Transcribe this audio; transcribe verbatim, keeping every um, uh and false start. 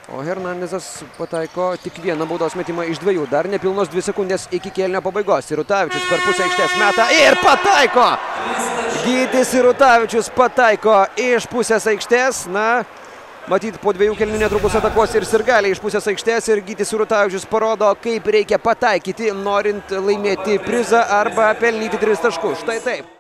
O Hernandezas pataiko tik vieną baudos metimą iš dviejų. Dar nepilnos dvi sekundės iki kėlinio pabaigos. Sirutavičius per pusę aikštės meta ir pataiko! Gytis Sirutavičius pataiko iš pusės aikštės. Na, matyt, po dviejų kėlinių netrukus atakuos ir sirgaliai iš pusės aikštės. Ir Gytis Sirutavičius parodo, kaip reikia pataikyti, norint laimėti prizą arba pelnyti tris taškus. Štai taip.